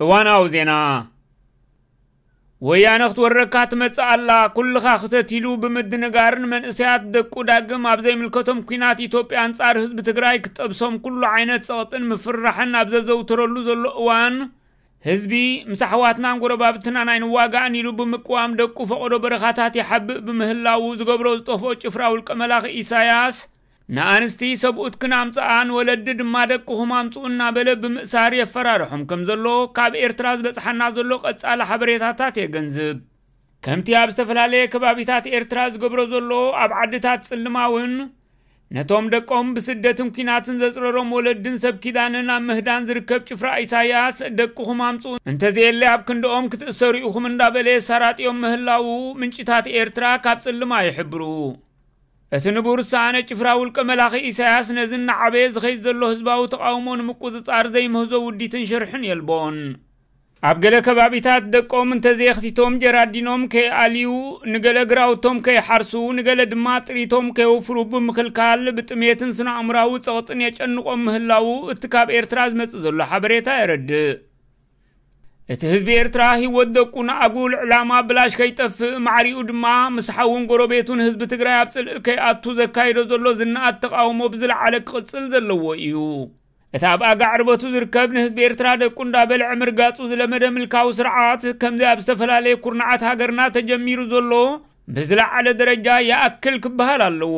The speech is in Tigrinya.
እዋናዊ ዜና። ወያነ ክትወረካ ትመጽእ ኣላ፣ ኩልኻ ክተት ኢሉ ብምድንጋርን መንእሰያት ደቁ ዳግም ኣብ ዘይምልከቶም ኲናት ኢትዮጵያ ኣንጻር ህዝቢ ትግራይ ክጠብሶም ኩሉ ዓይነት ጸቕጥን ምፍርራሕን ኣብ ዘዘውትረሉ ዘሎ እዋን፣ ህዝቢ ምስ ኣሕዋትናን ጎረባብትናን ኣይንዋጋእን ኢሉ ብምቅዋም ደቁ ፈቐዶ በረኻታት ይሓብእ ብምህላዉ ዝገብሮ ዝጠፍኦ ጭፍራ ውልቀ መላኺ ኢሳያስ፣ ንኣንስቲ ሰብኡትክን ኣምጽኣን ወለዲ ድማ ደቅኹም ኣምጽኡ እናበለ ብምእሳር የፈራርሖም ከም ዘሎ ካብ ኤርትራ ዝበጽሓና ዘሎ ቀጻሊ ሓበሬታታት የገንዝብ። ከምቲ ኣብ ዝተፈላለየ ከባቢታት ኤርትራ ዝገብሮ ዘሎ ኣብ ዓድታት ጽልማ እውን ነቶም ደቆም ብስደትን ኲናትን ዘጽረሮም ወለድን ሰብ ኪዳንን ኣብ ምህዳን ዝርከብ ጭፍራ ኢሳያስ ደቅኹም ኣምጽኡ እንተዘየለ ኣብ ክንድኦም ክትእሰሩ ኢኹም እንዳበለ የሳራጥዮም ምህላዉ ምንጭታት ኤርትራ ካብ ጽልማ ይሕብሩ። እቲ ንቡር ውሳነ ጭፍራ ውልቀ መላኺ ኢሳያስ ነዚ እናዓበየ ዝኸይድ ዘሎ ህዝባዊ ተቓውሞ ንምቁጽጻር ዘይምህዞ ውዲትን ሽርሕን የልቦን። ኣብ ገለ ከባቢታት ደቆም እንተዘየኽቲቶም ጀራዲኖም ከይኣልዩ፣ ንገለ ግራውቶም ከይሓርሱ፣ ንገለ ድማ ጥሪቶም ከየውፍሩ ብምኽልካል ብጥሜትን ስነ-ኣእምራዊ ጸቕጥን የጨንቖም ምህላዉ እቲ ካብ ኤርትራ ዝመጽእ ዘሎ ሓበሬታ የረድእ። እቲ ህዝቢ ኤርትራ ህይወት ደቁ ንኣጉል ዕላማ ብላሽ ከይጠፍእ፣ ማዕሪኡ ድማ ምስ ሓውን ጎረቤቱን ህዝቢ ትግራይ ኣብ ጽልኢ ከይኣቱ ዘካይዶ ዘሎ ዝነኣድ ተቓውሞ ብዝለዓለ ክቕጽል ዘለዎ እዩ። እቲ ኣብ ኣጋ ዕርበቱ ዝርከብ ንህዝቢ ኤርትራ ደቁ እንዳበልዐ ምርጋጹ ዝለመደ ምልካዊ ስርዓት፣ ከምዚ ኣብ ዝተፈላለየ ኩርናዓት ሃገርና ተጀሚሩ ዘሎ ብዝለዓለ ደረጃ ይኣክል ክበሃል ኣለዎ።